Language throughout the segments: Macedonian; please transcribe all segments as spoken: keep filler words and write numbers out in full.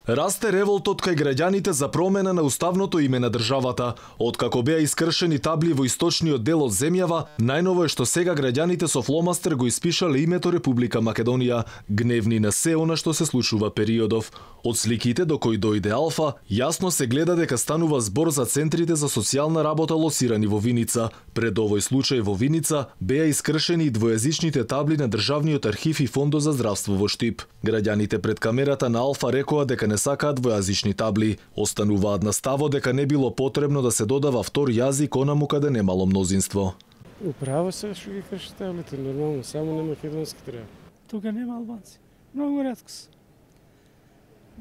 Расте револтот кај граѓаните за промена на уставното име на државата. Откако беа искршени табли во источниот дел од земјава, најново е што сега граѓаните со фломастер го испишале името Република Македонија, гневни на се она што се случува периодов. Од сликите до кои дојде Алфа, јасно се гледа дека станува збор за центрите за социјална работа лосирани во Виница. Пред овој случај во Виница беа искршени и двојазичните табли на Државниот архив и Фондот за здравство во Штип. Граѓаните пред камерата на Алфа рекоа дека не сакаат двојазични табли. Остануваат на ставот дека не било потребно да се додава втор јазик онаму каде немало мнозинство. Управо се што ги крши таблите, нормално, само на македонски треба. Тука нема албанци. Многу ретко се.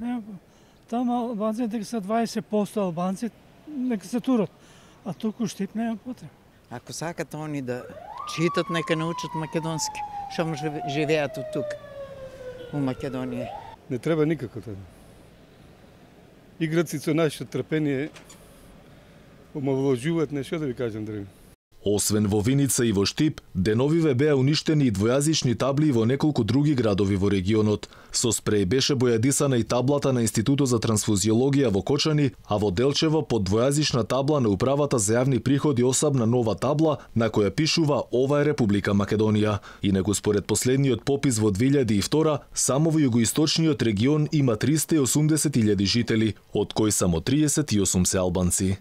Нема. Тама албанци дека се дваесет проценти албанци, нека се турат. А туку Штип нема потреба. Ако сакат они да читат, нека научат македонски. Што може живеат од тука, у Македонија. Не треба никако тоа. Играци со наше трпение омаловажуваат, не што да ви кажам друго. Освен во Виница и во Штип, деновиве беа уништени и двојазични табли во неколку други градови во регионот. Со спреј беше бојадисана и таблата на Институтот за трансфузиологија во Кочани, а во Делчево под двојазична табла на Управата за јавни приходи осабна нова табла на која пишува "Ова е Република Македонија". Инаку според последниот попис во две илјади и втора, само во југоисточниот регион има триста и осумдесет илјади жители, од кои само триесет и осум се албанци.